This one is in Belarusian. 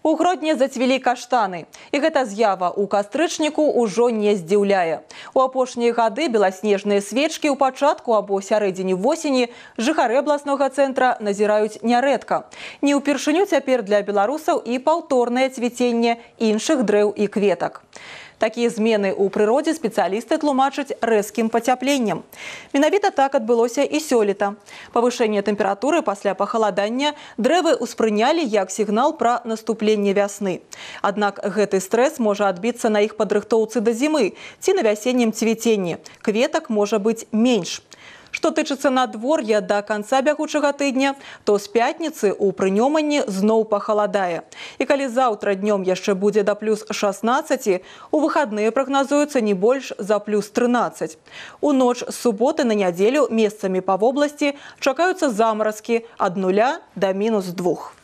У Гродні зацвілі каштаны. І гэта з'ява ў кастрычніку ўжо не здзіўляе. У апошнія гады беласнежныя свечкі ў пачатку або сярэдзіне восені жыхары абласнога цэнтра назіраюць нярэдка. Не ўпершыню цяпер для беларусаў і паўторнае цвіценне іншых дрэў і кветак. Такія змены ў прыродзе спецыялісты тлумачаць рэзкім пацяпленнем. Менавіта так адбылося і сёлета. Павышэнне тэмпературы пасля пахаладання дрэвы ўспрынялі як сігнал пра наступленне вясны. Аднак гэты стрэс можа адбіцца на іх падрыхтоўцы да зімы ці на вясеннім цвіценні. Кветак можа быць менш. Што тычыцца надвор'я да канца бягучага тыдня, то з пятніцы ў прынёманні зноў пахаладае. І калі заўтра днём яшчэ будзе да плюс 16, у выхадныя прагназуецца не больш за плюс 13. У ноч з суботы на нядзелю месцамі па вобласці чакаюцца замаразкі ад 0 да -2.